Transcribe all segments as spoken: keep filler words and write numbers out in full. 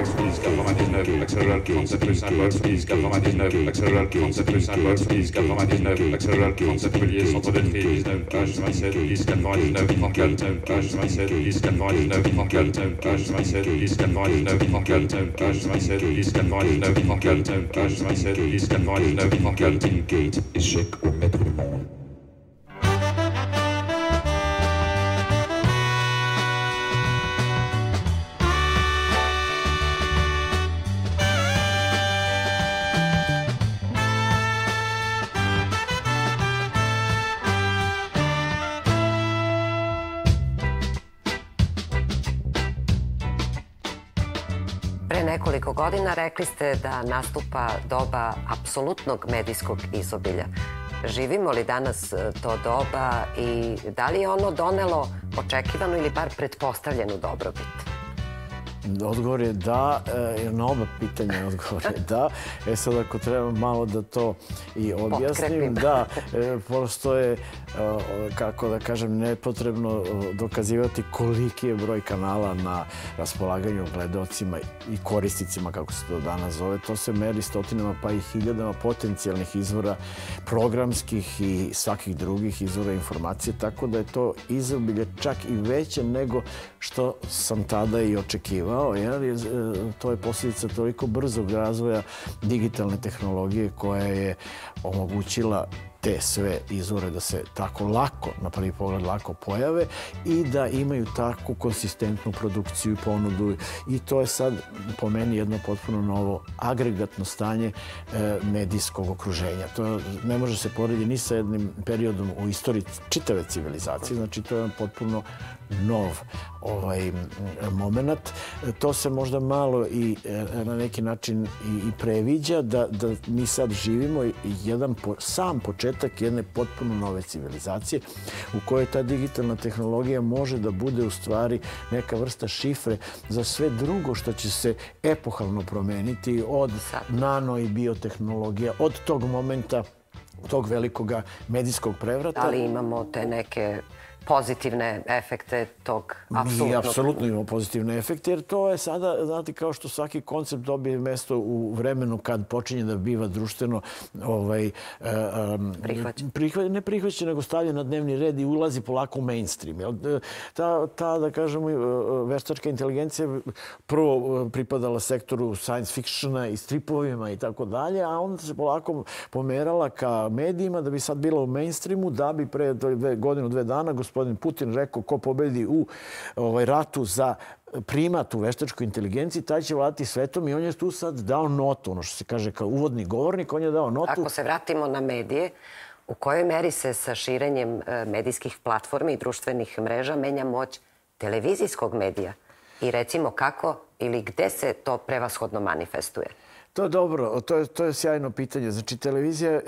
speed quatre-vingt-dix-neuf, accélère trente-sept virgule cinq volt speed quatre-vingt-dix-neuf, accélère trente-sept virgule cinq volt speed quatre-vingt-dix-neuf, accélère trente-sept relié centre de tri dix-neuf H vingt-sept dix quatre-vingt-dix-neuf trente-quatre H vingt-sept dix quatre-vingt-dix-neuf trente-quatre H vingt-sept dix quatre-vingt-dix-neuf trente-quatre H vingt-sept dix quatre-vingt-dix-neuf trente-quatre H vingt-sept dix quatre-vingt-dix-neuf trente-quatre Gate, échec au maître du monde. Pre nekoliko godina rekli ste da nastupa doba apsolutnog medijskog izobilja. Živimo li danas to doba i da li je ono donelo očekivanu ili bar pretpostavljenu dobrobit? Odgovor je da, na oba pitanja odgovor je da. E sad ako treba malo da to i objasnim, da, prosto je, kako da kažem, nepotrebno dokazivati koliki je broj kanala na raspolaganju gledaocima i korisnicima, kako se to danas zove. To se meri stotinama pa i hiljadama potencijalnih izvora programskih i svakih drugih izvora informacije, tako da je to izobilje čak i veće nego što sam tada i očekivao. To je posljedica toliko brzog razvoja digitalne tehnologije koja je omogućila te sve izvore da se tako lako, na prvi pogled lako pojave i da imaju takvu konsistentnu produkciju i ponudu. I to je sad po meni jedno potpuno novo agregatno stanje medijskog okruženja. To ne može se porediti ni sa jednim periodom u istoriji čitave civilizacije. Znači to je potpuno nov ovaj moment. To se možda malo i na neki način i previđa da, da mi sad živimo jedan po, sam početak jedne potpuno nove civilizacije u kojoj ta digitalna tehnologija može da bude u stvari neka vrsta šifre za sve drugo što će se epohalno promeniti od nano i biotehnologija, od tog momenta, tog velikog medijskog prevrata. Da li imamo te neke pozitivne efekte tog apsolutnog? Mi apsolutno imamo pozitivne efekte, jer to je sada, znate, kao što svaki koncept dobije mesto u vremenu kad počinje da biva društveno ovaj, prihvaćen. Prihva, ne prihvaćen, nego stavljen na dnevni red i ulazi polako u mainstream. Ta, ta, da kažemo, veštačka inteligencija prvo pripadala sektoru science fictiona i stripovima i tako dalje, a onda se polako pomerala ka medijima da bi sad bila u mainstreamu, da bi pre dve, godinu, dve dana gospodin Putin rekao ko pobedi u ovaj, ratu za primat u veštačkoj inteligenciji, taj će vladati svetom i on je tu sad dao notu, ono što se kaže kao uvodni govornik, on je dao notu. Ako se vratimo na medije, u kojoj meri se sa širenjem medijskih platformi i društvenih mreža menja moć televizijskog medija? I recimo kako ili gde se to prevashodno manifestuje? To je dobro, to je, to je sjajno pitanje. Znači, televizija,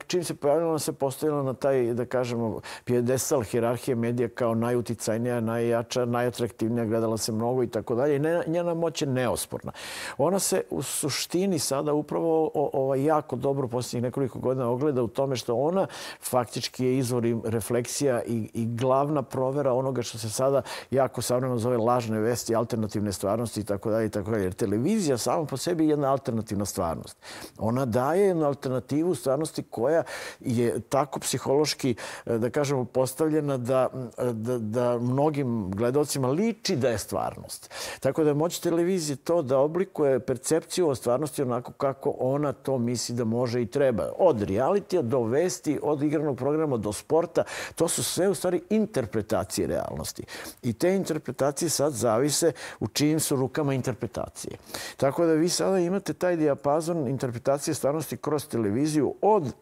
čim se pojavila, ona se postavila na taj, da kažemo, pijedestal hijerarhije medija kao najuticajnija, najjača, najatraktivnija, gledala se mnogo i tako dalje. I njena moć je neosporna. Ona se u suštini sada upravo ovaj, jako dobro posljednjih nekoliko godina ogleda u tome što ona faktički je izvor refleksija i, i glavna provera onoga što se sada jako savremeno zove lažne vesti, alternativne stvarnosti i tako dalje i tako dalje. Jer televizija sama po sebi je jedna alternativna stvarnost. Ona daje jednu alternativu stvarnosti koja je tako psihološki, da kažemo, postavljena da, da, da mnogim gledalcima liči da je stvarnost. Tako da je moć televizije to da oblikuje percepciju o stvarnosti onako kako ona to misli da može i treba. Od realitija do vesti, od igranog programa do sporta, to su sve u stvari interpretacije realnosti. I te interpretacije sad zavise u čijim su rukama interpretacije. Tako da vi sada imate taj dijapazon interpretacije stvarnosti kroz televiziju od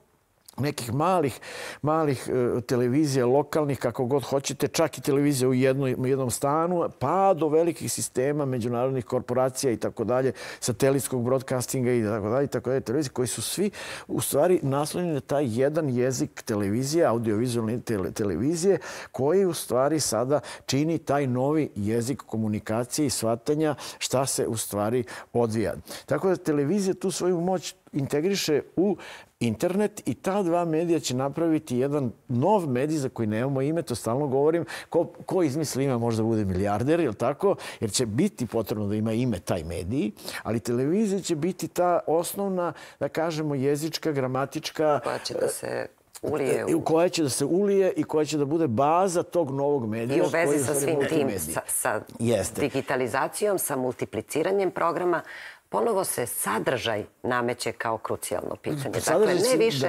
nekih malih, malih televizija, lokalnih, kako god hoćete, čak i televizija u jednom, jednom stanu, pa do velikih sistema, međunarodnih korporacija i tako dalje, satelitskog broadcastinga i tako dalje, i tako dalje, televizije, koji su svi u stvari naslonjeni na taj jedan jezik televizije, audiovizualne televizije, koji u stvari sada čini taj novi jezik komunikacije i shvatanja šta se u stvari odvija. Tako da televizija tu svoju moć integriše u internet i ta dva medija će napraviti jedan nov medij za koji nemamo ime, to stalno govorim. Ko, ko izmisli ime možda bude milijarder, je li tako? Jer će biti potrebno da ima ime taj medij, ali televizija će biti ta osnovna, da kažemo, jezička, gramatička... Koja će da se ulije. U... koja će da se ulije i koja će da bude baza tog novog medija. I u vezi sa svim tim, sa, sa digitalizacijom, sa multipliciranjem programa, ponovo se sadržaj nameće kao krucijalno pitanje. Dakle, ne više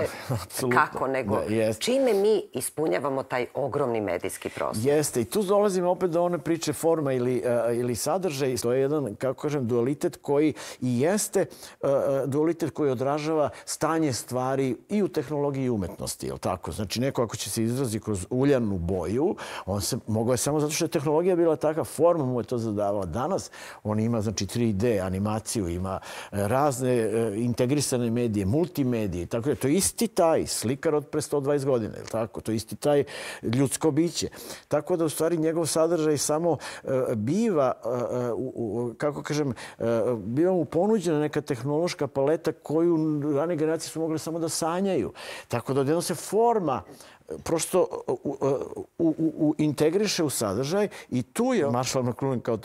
kako, nego čime mi ispunjavamo taj ogromni medijski prostor. Jeste. I tu dolazimo opet do one priče forma ili, ili sadržaj. To je jedan, kako kažem, dualitet koji i jeste dualitet koji odražava stanje stvari i u tehnologiji i umetnosti. Je li tako? Znači, neko ako će se izrazi kroz uljanu boju, on se mogao je samo zato što je tehnologija bila takva, forma mu je to zadavala. Danas on ima, znači, tri D animaciju, ima razne integrisane medije, multimedije. Tako da to je isti taj slikar od pre sto dvadeset godina. Tako? To je isti taj ljudsko biće. Tako da u stvari njegov sadržaj samo biva, kako kažem, biva mu ponuđena neka tehnološka paleta koju rane generacije su mogle samo da sanjaju. Tako da odjedno se forma prosto u, u, u, integriše u sadržaj i tu je Marshall McLuhan kao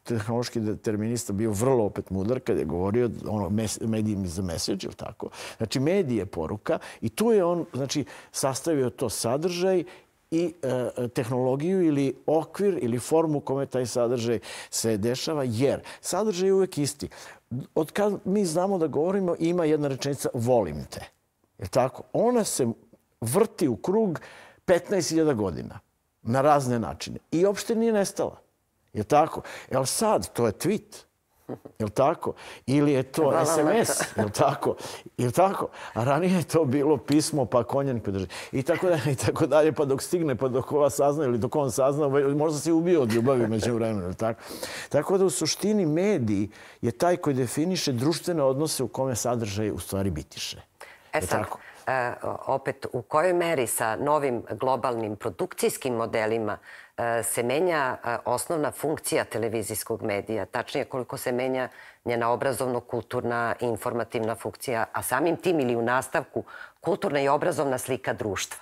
tehnološki determinista bio vrlo opet mudar kad je govorio ono, medium is the message, ili tako. Znači, medij je poruka i tu je on, znači, sastavio to sadržaj i e, tehnologiju ili okvir ili formu u kome taj sadržaj se dešava, jer sadržaj je uvek isti. Od kad mi znamo da govorimo, ima jedna rečenica volim te. Je tako? Ona se vrti u krug petnaest hiljada godina na razne načine i uopšte nije nestala. Je tako? Jel sad to je tweet? Je tako? Ili je to es em es? Je tako? Je tako? A ranije je to bilo pismo, pa konjanik podrži. I tako dalje, i tako dalje, pa dok stigne, pa dok ova sazna ili dok on sazna, možda se ubio od ljubavi među vremenu. Tako? Tako da u suštini medij je taj koji definiše društvene odnose u kome sadržaj u stvari bitiše. E sad, e, opet u kojoj meri sa novim globalnim produkcijskim modelima e, se menja e, osnovna funkcija televizijskog medija, tačnije koliko se menja njena obrazovno-kulturna i informativna funkcija, a samim tim ili u nastavku kulturna i obrazovna slika društva?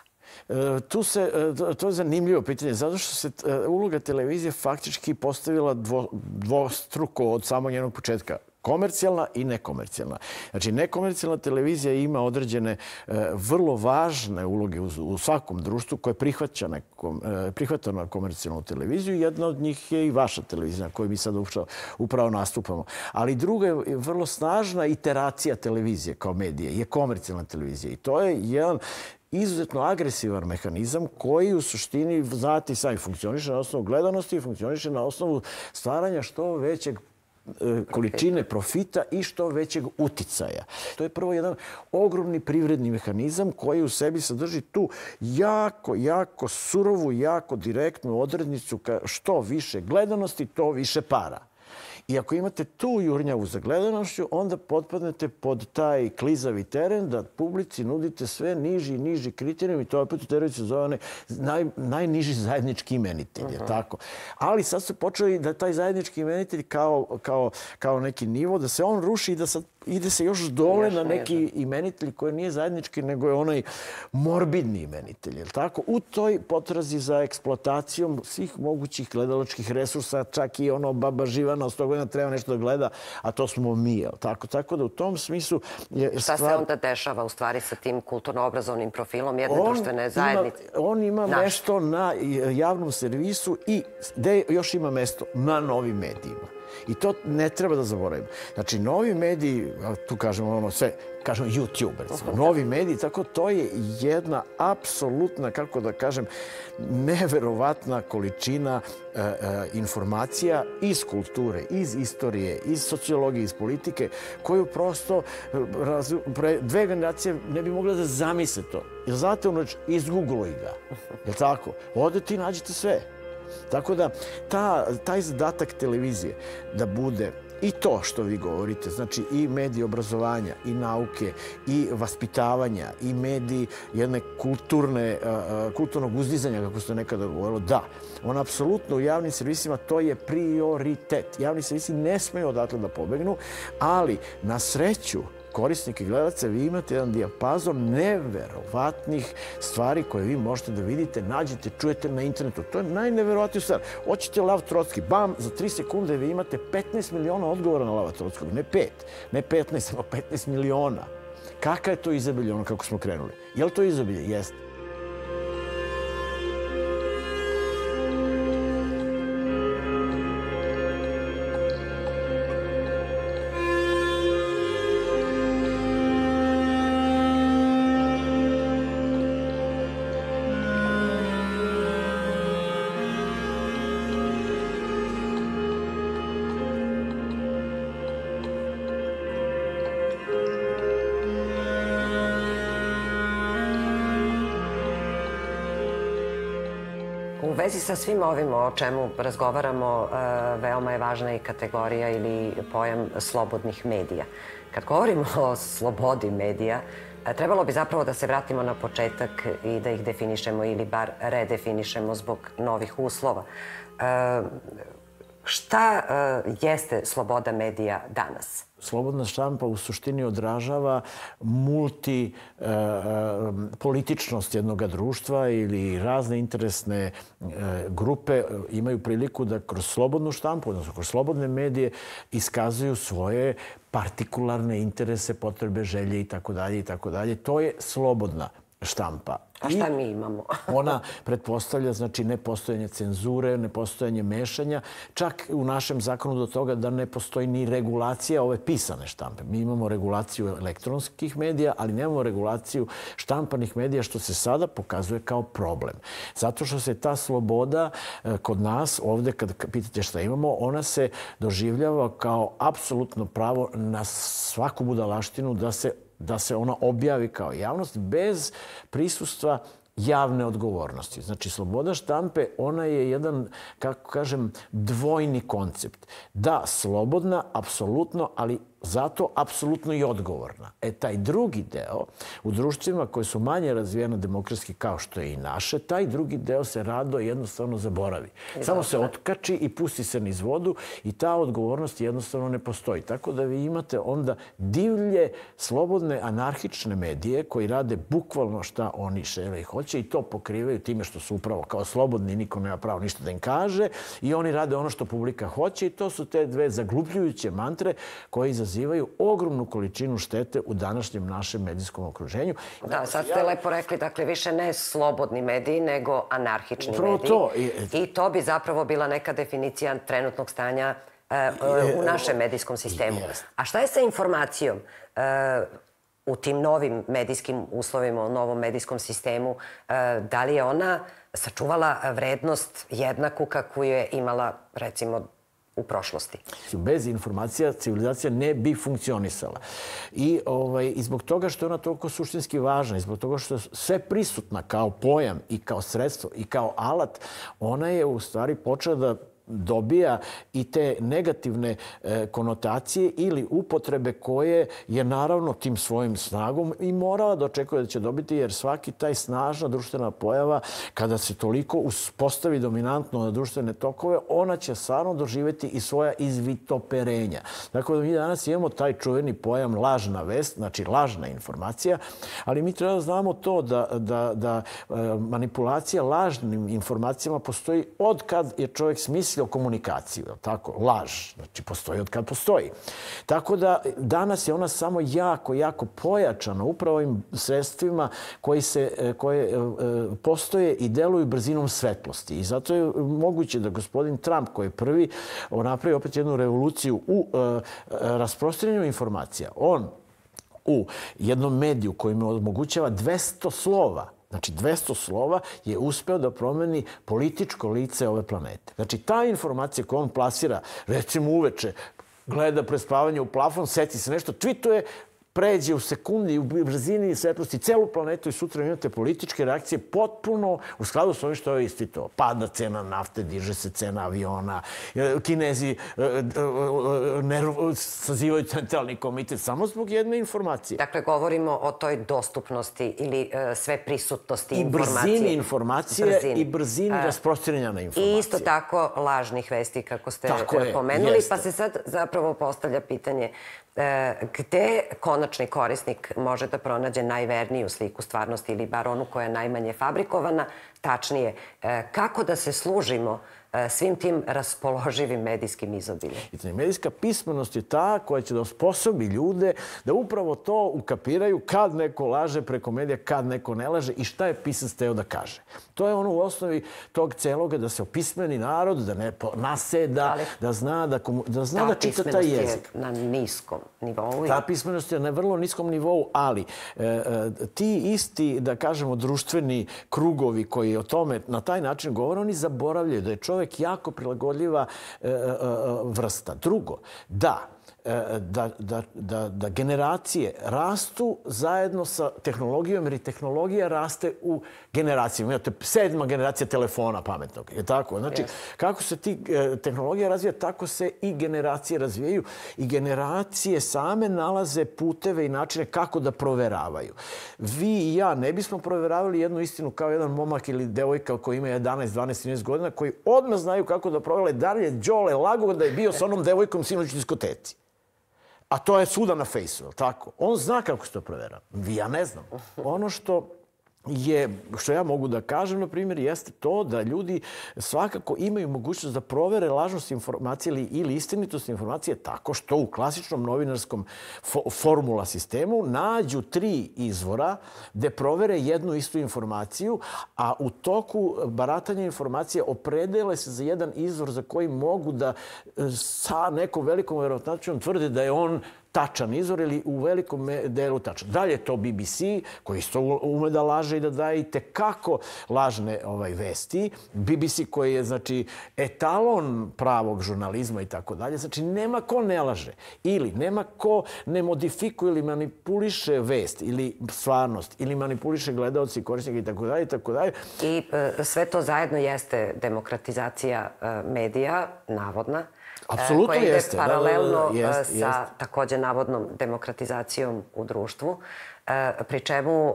E, tu se, to je zanimljivo pitanje, zato što se uloga televizije faktički postavila dvo, dvostruko od samog njenog početka. Komercijalna i nekomercijalna. Znači, nekomercijalna televizija ima određene e, vrlo važne uloge u, u svakom društvu koje prihvaća, nekom, e, prihvata na komercijalnu televiziju. Jedna od njih je i vaša televizija na kojoj mi sad upravo, upravo nastupamo. Ali druga je vrlo snažna iteracija televizije kao medije, je komercijalna televizija. I to je jedan izuzetno agresivan mehanizam koji u suštini, znate, sami funkcioniše na osnovu gledanosti i funkcioniše na osnovu stvaranja što većeg količine profita i što većeg uticaja. To je prvo jedan ogromni privredni mehanizam koji u sebi sadrži tu jako, jako surovu, jako direktnu odrednicu ka što više gledanosti, to više para. I ako imate tu jurnjavu za gledanošću, onda potpadnete pod taj klizavi teren da publici nudite sve niži i niži kriterijum i to opet u teoriji se zove naj, najniži zajednički imenitelj. Uh-huh. Tako. Ali sad se počeli da taj zajednički imenitelj kao, kao, kao neki nivo, da se on ruši i da sad ide se još dole još na neki nije. imenitelj koji nije zajednički, nego je onaj morbidni imenitelj. Je tako? U toj potrazi za eksploatacijom svih mogućih gledalačkih resursa, čak i ono baba živana od sto godina treba nešto da gleda, a to smo mi. Je tako? Tako da u tom smislu je Šta stvar... se onda dešava u stvari sa tim kulturno-obrazovnim profilom jedne on društvene zajednice? Ima, on ima Naš. mesto na javnom servisu i gde još ima mesto na novim medijima. I to ne treba da zaboravimo. Znači, novi mediji, tu kažemo ono sve, kažemo YouTube, recimo, novi mediji, tako to je jedna apsolutna, kako da kažem, neverovatna količina e, e, informacija iz kulture, iz istorije, iz sociologije, iz politike, koju prosto raz, pre dve generacije ne bi mogla da zamisle to. Jer znate, ono, izgoogluj ga. Je tako? Odete i nađete sve. Tako da ta, taj zadatak televizije da bude i to što vi govorite, znači i mediji obrazovanja, i nauke, i vaspitavanja, i mediji jedne kulturne, kulturnog uzdizanja, kako se nekada govorilo, da, on apsolutno u javnim servisima to je prioritet. Javni servisi ne smeju odatle da pobegnu, ali na sreću korisnika i gledalaca, vi imate jedan dijapazon neverovatnih stvari koje vi možete da vidite, nađete, čujete na internetu. To je najneverovatnija stvar. Hoćete Lav Trotski, bam, za tri sekunde vi imate petnaest miliona odgovora na Lava Trotskog. Ne pet, ne petnaest, nego petnaest miliona. Kaka je to izobilje, ono kako smo krenuli? Je li to izobilje? Jeste. U vezi sa svim ovim o čemu razgovaramo, veoma je važna i kategorija ili pojam slobodnih medija. Kad govorimo o slobodi medija, trebalo bi zapravo da se vratimo na početak i da ih definišemo ili bar redefinišemo zbog novih uslova. Šta jeste sloboda medija danas? Slobodna štampa u suštini odražava multipolitičnost jednog društva ili razne interesne grupe imaju priliku da kroz slobodnu štampu, odnosno kroz slobodne medije, iskazuju svoje partikularne interese, potrebe, želje itd. itd. To je slobodna štampa. A šta mi imamo? Ona pretpostavlja, znači, nepostojanje cenzure, nepostojanje mešanja, čak u našem zakonu do toga da ne postoji ni regulacija ove pisane štampe. Mi imamo regulaciju elektronskih medija, ali nemamo regulaciju štampanih medija, što se sada pokazuje kao problem. Zato što se ta sloboda kod nas, ovde kad pitate šta imamo, ona se doživljava kao apsolutno pravo na svaku budalaštinu da se da se ona objavi kao javnost bez prisustva javne odgovornosti. Znači, sloboda štampe, ona je jedan, kako kažem, dvojni koncept. Da, slobodna, apsolutno, ali zato apsolutno i odgovorna. E, taj drugi deo, u društvima koje su manje razvijene demokratski kao što je i naše, taj drugi deo se rado jednostavno zaboravi. Samo se otkači i pusti se niz vodu i ta odgovornost jednostavno ne postoji. Tako da vi imate onda divlje, slobodne, anarhične medije koji rade bukvalno šta oni žele i hoće i to pokrivaju time što su upravo kao slobodni, niko nema pravo ništa da im kaže i oni rade ono što publika hoće i to su te dve zaglupljujuće mantre koje izazivaju ogromnu količinu štete u današnjem našem medijskom okruženju. Da, sad ste lepo rekli, dakle, više ne slobodni mediji, nego anarhični Upravo mediji. to. I to bi zapravo bila neka definicija trenutnog stanja u našem medijskom sistemu. A šta je sa informacijom u tim novim medijskim uslovima, u novom medijskom sistemu? Da li je ona sačuvala vrednost jednaku kakvu je imala, recimo, u prošlosti? Bez informacija civilizacija ne bi funkcionisala. I, ovaj, i zbog toga što je ona toliko suštinski važna, i zbog toga što je sve prisutna kao pojam i kao sredstvo i kao alat, ona je u stvari počela da dobija i te negativne e, konotacije ili upotrebe koje je naravno tim svojim snagom i morala da očekuje da će dobiti, jer svaki taj snažna društvena pojava, kada se toliko uspostavi dominantno na društvene tokove, ona će stvarno doživjeti i svoja izvitoperenja. Dakle, mi danas imamo taj čuveni pojam lažna vest, znači lažna informacija, ali mi treba da znamo to da, da, da e, manipulacija lažnim informacijama postoji od kad je čovjek smislio o komunikaciju, tako, laž, znači postoji od kad postoji. Tako da danas je ona samo jako, jako pojačana upravo ovim sredstvima koji se, koje postoje i deluju brzinom svetlosti. I zato je moguće da gospodin Trump, koji je prvi napravi opet jednu revoluciju u rasprostranjenju informacija, on u jednom mediju koji mu omogućava dvesta slova, znači dvesta slova, je uspeo da promeni političko lice ove planete. Znači ta informacija koju on plasira, recimo uveče, gleda prespavanje u plafon, seti se nešto, tvituje, pređe u sekundi, u brzini svetlosti celu planetu i sutra imate političke reakcije potpuno u skladu s ovim što je istvitao. Pada cena nafte, diže se cena aviona, Kinezi sazivaju centralni komitet samo zbog jedne informacije. Dakle, govorimo o toj dostupnosti ili sve prisutnosti informacije. I brzini informacije i brzini rasprostranjanja informacije. I isto tako lažnih vesti, kako ste pomenuli. Pa se sad zapravo postavlja pitanje gde konačni korisnik može da pronađe najverniju sliku stvarnosti ili bar onu koja je najmanje fabrikovana. Tačnije, kako da se služimo svim tim raspoloživim medijskim izobiljem. Medijska pismenost je ta koja će da osposobi ljude da upravo to ukapiraju kad neko laže preko medija, kad neko ne laže i šta je pisac teo da kaže. To je ono u osnovi tog celoga da se opismeni narod, da ne naseda, da zna da, da, zna da čita taj jezik. Ta pismenost je na niskom nivou. Ta pismenost je na vrlo niskom nivou, ali e, e, ti isti, da kažemo, društveni krugovi koji o tome na taj način govore, oni zaboravljaju da je čovjek jako prilagodljiva e, e, vrsta. Drugo, da, Da, da, da, da generacije rastu zajedno sa tehnologijom, jer i tehnologija raste u generacijama. Imate sedma generacija telefona pametnog. Je tako? Znači, yes. Kako se ti tehnologija razvija, tako se i generacije razvijaju. I generacije same nalaze puteve i načine kako da proveravaju. Vi i ja ne bismo proveravali jednu istinu kao jedan momak ili devojka koji ima jedanaest, dvanaest, trinaest godina, koji odmah znaju kako da provele da li je Đole lago da je bio sa onom devojkom sinoć u diskoteci. A to je svuda na fejsu, tako? On zna kako se to provera. Ja ne znam. Ono što je, što ja mogu da kažem, na primjer, jeste to da ljudi svakako imaju mogućnost da provere lažnost informacije ili, ili istinitost informacije tako što u klasičnom novinarskom fo, formula sistemu nađu tri izvora gde provere jednu istu informaciju, a u toku baratanja informacije opredele se za jedan izvor za koji mogu da sa nekom velikom verovatnoćom tvrde da je on tačan izvor ili u velikom delu tačan. Dalje je to B B C, koji isto ume da laže i da daje i tekako lažne ovaj, vesti. B B C koji je, znači, etalon pravog žurnalizma i tako dalje. Znači, nema ko ne laže. Ili nema ko ne modifikuje ili manipuliše vest ili stvarnost ili manipuliše gledaoci, korisnika i tako dalje i tako dalje. I e, sve to zajedno jeste demokratizacija e, medija, navodna. Apsolutno koja ide jeste. paralelno Da, da, jest, sa jest. također navodnom demokratizacijom u društvu. Pri čemu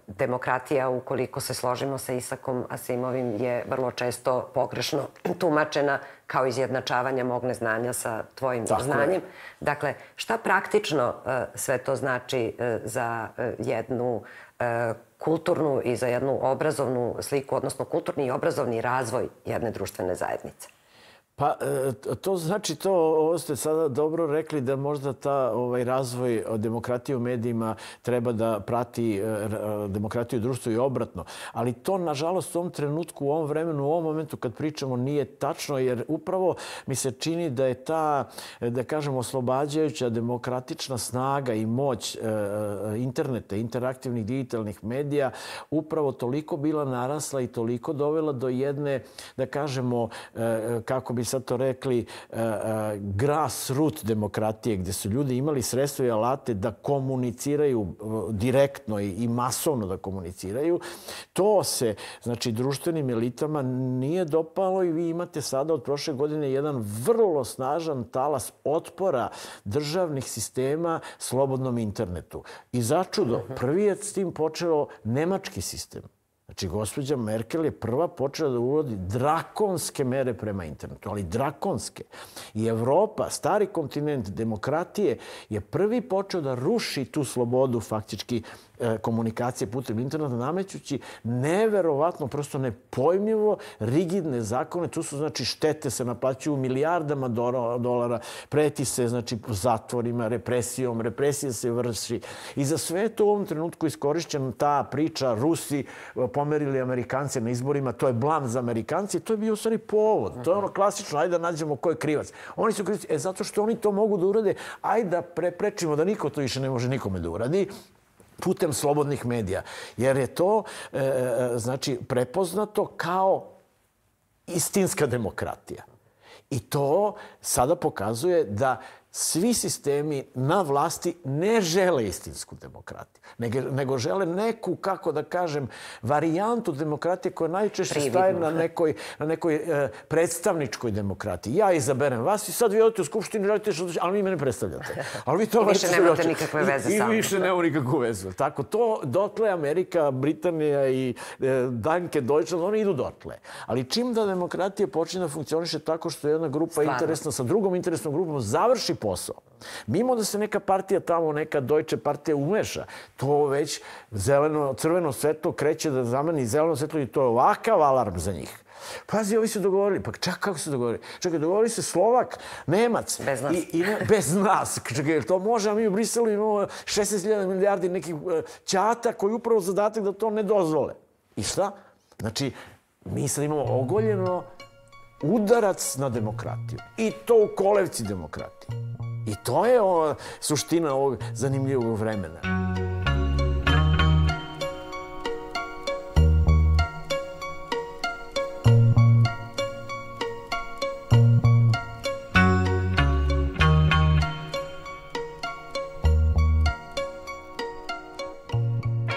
demokratija, ukoliko se složimo sa Isakom Asimovim, je vrlo često pogrešno tumačena kao izjednačavanje mog neznanja sa tvojim Tako znanjem. je. Dakle, šta praktično sve to znači za jednu kulturnu i za jednu obrazovnu sliku, odnosno kulturni i obrazovni razvoj jedne društvene zajednice? Pa to znači to, ovo ste sada dobro rekli da možda ta ovaj razvoj demokratije u medijima treba da prati demokratiju u društvu i obratno. Ali to, nažalost, u ovom trenutku, u ovom vremenu, u ovom momentu kad pričamo nije tačno, jer upravo mi se čini da je ta, da kažem, oslobađajuća demokratična snaga i moć interneta, interaktivnih digitalnih medija upravo toliko bila narasla i toliko dovela do jedne, da kažemo, kako bi sad to rekli, grassroot demokratije, gdje su ljudi imali sredstva i alate da komuniciraju direktno i masovno da komuniciraju. To se, znači, društvenim elitama nije dopalo i vi imate sada od prošle godine jedan vrlo snažan talas otpora državnih sistema slobodnom internetu. I začudo, prvi je s tim počeo nemački sistem. Znači, gospođa Merkel je prva počela da uvodi drakonske mere prema internetu, ali drakonske. I Evropa, stari kontinent demokratije, je prvi počeo da ruši tu slobodu faktički komunikacije putem interneta, namećući neverovatno, prosto nepojmljivo rigidne zakone. Tu su, znači, štete se naplaćuju milijardama dolara, preti se, znači, zatvorima, represijom, represija se vrši. I za sve to u ovom trenutku iskorišćena ta priča Rusi pomerili Amerikance na izborima, to je blam za Amerikanci, to je bio u stvari povod. To je ono klasično, ajde da nađemo ko je krivac. Oni su krivci, e, zato što oni to mogu da urade, ajde da preprečimo da niko to više ne može nikome da uradi putem slobodnih medija. Jer je to, e, znači, prepoznato kao istinska demokratija. I to sada pokazuje da svi sistemi na vlasti ne žele istinsku demokratiju, nego, nego žele neku, kako da kažem, varijantu demokratije koja najčešće staje na nekoj, na nekoj e, predstavničkoj demokratiji. Ja izaberem vas i sad vi odete u skupštinu, radite što, ali vi mene predstavljate. Ali vi to I više nemate nikakve veze I, sa mnom. I više nema nikakvu vezu. Tako, to dotle Amerika, Britanija i e, Danke, Deutschland, oni idu dotle. Ali čim da demokratija počne da funkcioniše tako što jedna grupa Stvarno. interesna sa drugom interesnom grupom završi posao. Mimo da se neka partija tamo, neka Deutsche partija umeša, to već zeleno, crveno svetlo kreće da zameni zeleno svetlo i to je ovakav alarm za njih. Pazi, ovi su dogovorili. Pa čak kako su dogovorili? Čekaj, dogovorili se Slovak, Nemac. Bez nas. I, i ne, bez nas. Čekaj, to može, a mi u Briselu imamo šesnaest hiljada milijardi nekih ćata koji upravo zadatak da to ne dozvole. I šta? Znači, mi sad imamo ogoljeno udarac na demokratiju. I to u kolevci demokratije. I to je o, suština ovog zanimljivog vremena.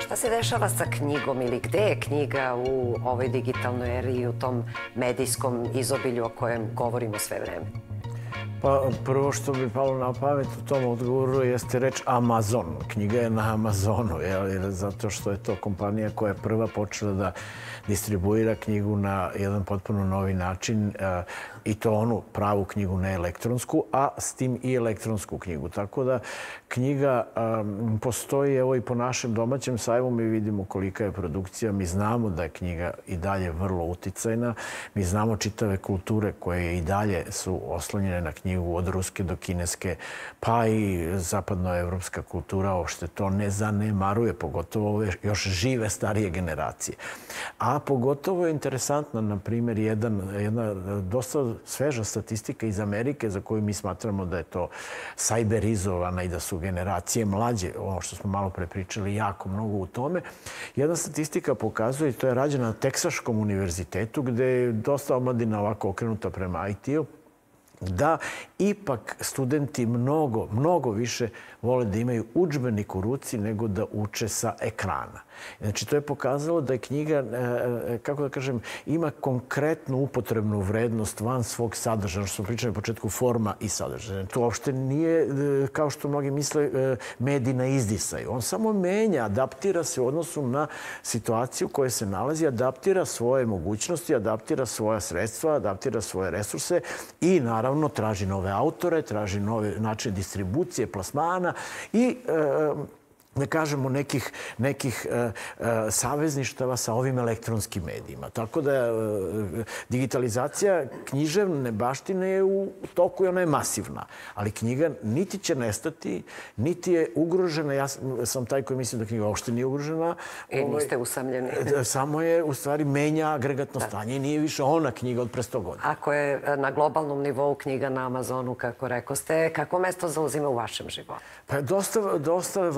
Šta se dešava sa knjigom ili gde je knjiga u ovoj digitalnoj eri i u tom medijskom izobilju o kojem govorimo sve vreme? Pa prvo što bi palo na pamet u tom odgovoru jeste reč Amazon. Knjiga je na Amazonu, jer zato što je to kompanija koja je prva počela da distribuira knjigu na jedan potpuno novi način i to onu pravu knjigu, ne elektronsku, a s tim i elektronsku knjigu. Tako da knjiga um, postoji evo i po našem domaćem sajmu. Mi vidimo kolika je produkcija. Mi znamo da je knjiga i dalje vrlo uticajna. Mi znamo čitave kulture koje i dalje su oslonjene na knjigu od ruske do kineske, pa i zapadnoevropska kultura uopšte to ne zanemaruje, pogotovo ove još žive starije generacije. A pogotovo je interesantna, na primjer, jedan, jedna dosta sveža statistika iz Amerike za koju mi smatramo da je to sajberizovana i da su generacije mlađe, ono što smo malo pre pričali, jako mnogo u tome. Jedna statistika pokazuje, to je rađena na Teksaškom univerzitetu, gde je dosta omladina ovako okrenuta prema I T-u, da ipak studenti mnogo, mnogo više vole da imaju udžbenik u ruci nego da uče sa ekrana. Znači, to je pokazalo da je knjiga, kako da kažem, ima konkretnu upotrebnu vrednost van svog sadržaja, što smo pričali u početku, forma i sadržaja. To uopšte nije, kao što mnogi misle, medij na izdisaju. On samo menja, adaptira se u odnosu na situaciju u kojoj se nalazi, adaptira svoje mogućnosti, adaptira svoja sredstva, adaptira svoje resurse i, naravno, traži nove autore, traži nove načine distribucije, plasmana i da kažemo, nekih, nekih e, e, savezništava sa ovim elektronskim medijima. Tako da e, digitalizacija književne baštine je u toku i ona je masivna. Ali knjiga niti će nestati, niti je ugrožena. Ja sam taj koji mislim da knjiga uopšte nije ugrožena. I niste usamljeni. Samo je, u stvari, menja agregatno stanje i nije više ona knjiga od pre sto godina. Ako je na globalnom nivou knjiga na Amazonu, kako rekoste, kako mesto zauzima u vašem životu? Pa dosta, dosta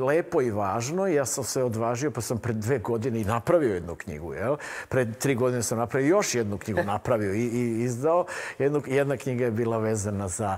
lepo i važno. Ja sam se odvažio, pa sam pred dve godine i napravio jednu knjigu. Jel? Pred tri godine sam napravio još jednu knjigu, napravio i, i izdao. Jednu, jedna knjiga je bila vezana za,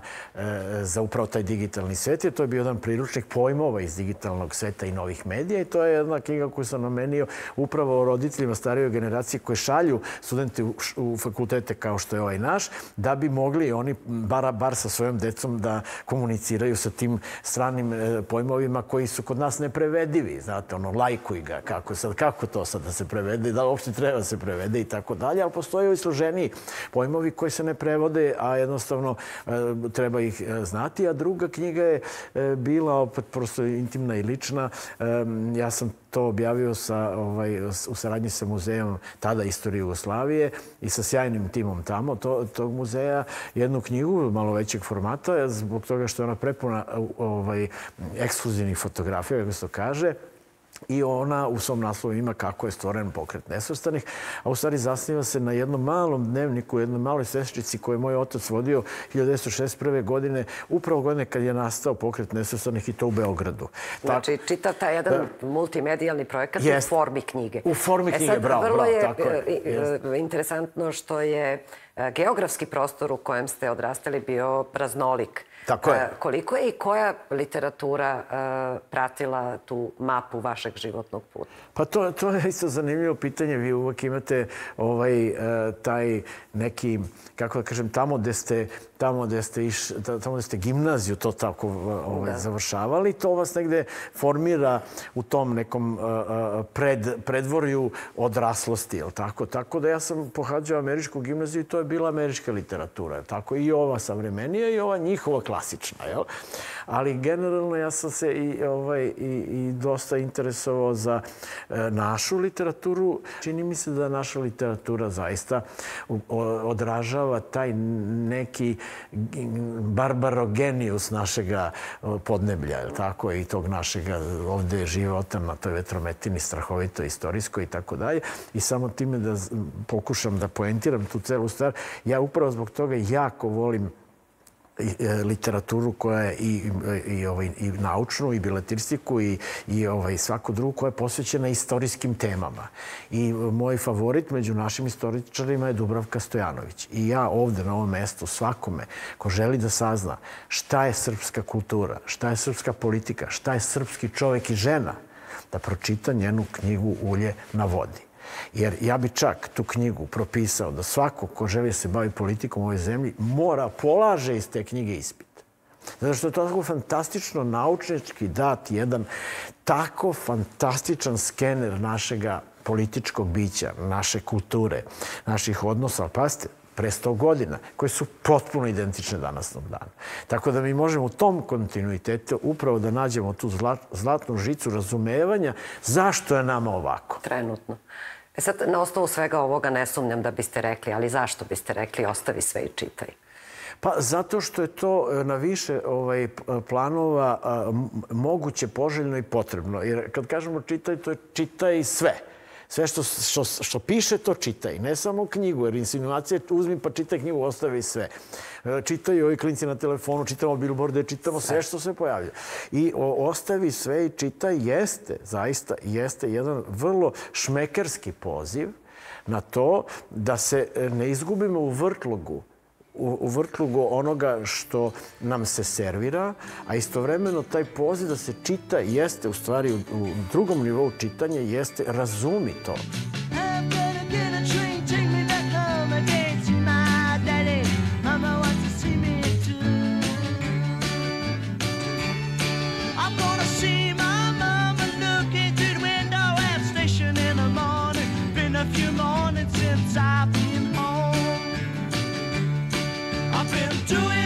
za upravo taj digitalni svet. I to je bio jedan priručnik pojmova iz digitalnog sveta i novih medija. I to je jedna knjiga koju sam namenio upravo roditeljima starijoj generacije koji šalju studente u, u fakultete kao što je ovaj naš, da bi mogli oni bar, bar sa svojom decom da komuniciraju sa tim stranim pojmovima koji su kod nas neprevedivi. Znate, ono, lajkuj ga, kako, sad, kako to sad da se prevede, da uopšte treba da se prevede i tako dalje, ali postoje i složeniji pojmovi koji se ne prevode, a jednostavno e, treba ih e, znati. A druga knjiga je e, bila opet prosto intimna i lična. E, ja sam to objavio sa, ovaj, u saradnji sa muzejom tada Istorije Jugoslavije i sa sjajnim timom tamo, to, tog muzeja, jednu knjigu malo većeg formata, zbog toga što je ona prepuna ovaj, ekskluzivnih fotografija, kako se to kaže. I ona u svom naslovu ima kako je stvoren Pokret nesvrstanih, a u stvari zasniva se na jednom malom dnevniku, jednoj maloj sveščici koju je moj otac vodio hiljadu devetsto šezdeset prve. godine, upravo godine kad je nastao Pokret nesvrstanih i to u Beogradu. Znači, tak... čitav taj jedan da, multimedijalni projekat jest, u formi knjige. U formi knjige, e sad, bravo, vrlo bravo, je, tako je. Jest. Interesantno što je geografski prostor u kojem ste odrastali bio raznolik. Tako je. Koliko je i koja literatura uh, pratila tu mapu vašeg životnog puta? Pa to, to je isto zanimljivo pitanje. Vi uvijek imate ovaj, uh, taj neki, kako da kažem, tamo gde ste, tamo gde ste, iš, tamo gde ste gimnaziju to tako ovaj, završavali. To vas negde formira u tom nekom uh, pred, predvorju odraslosti. Jel tako? Tako da ja sam pohađao američku gimnaziju i to je bila američka literatura. Tako i ova savremenija i ova njihova klasična, jel? Ali generalno ja sam se i, ovaj, i, i dosta interesovao za e, našu literaturu. Čini mi se da naša literatura zaista odražava taj neki barbarogenius našega podneblja, jel tako? I tog našega ovde života na toj vetrometini strahovito istorijskoj i tako dalje. I samo time da pokušam da poentiram tu celu stvar, ja upravo zbog toga jako volim literaturu koja je i, i, ovaj, i naučnu, i biletristiku, i, i ovaj, svaku drugu koja je posvećena istorijskim temama. I moj favorit među našim istoričarima je Dubravka Stojanović. I ja ovde na ovom mestu svakome ko želi da sazna šta je srpska kultura, šta je srpska politika, šta je srpski čovek i žena, da pročita njenu knjigu Ulje na vodi. Jer ja bi čak tu knjigu propisao da svako ko želi se bavi politikom u ovoj zemlji mora polaže iz te knjige ispit. Zato što je to tako fantastično naučnički dat jedan tako fantastičan skener našega političkog bića, naše kulture, naših odnosa. Ali pazite, pre sto godina, koje su potpuno identične danasnom danu. Tako da mi možemo u tom kontinuitetu upravo da nađemo tu zlatnu žicu razumevanja zašto je nama ovako. Trenutno. E sad, na osnovu svega ovoga ne sumnjam da biste rekli, ali zašto biste rekli ostavi sve i čitaj? Pa zato što je to na više ovaj, planova a, moguće, poželjno i potrebno. Jer kad kažemo čitaj, to je čitaj sve. Sve što, što, što piše, to čitaj. Ne samo knjigu, jer insinuacija uzmi pa čitaj knjigu, ostavi sve. Čitaju ovi klinci na telefonu, čitamo bilborde, čitamo sve što se pojavlja. I o, ostavi sve i čitaj jeste, zaista jeste jedan vrlo šmekerski poziv na to da se ne izgubimo u vrtlogu u vrtlugu onoga što nam se servira, a istovremeno taj poziv da se čita jeste, u stvari u drugom nivou čitanja, jeste razumi to. Do it.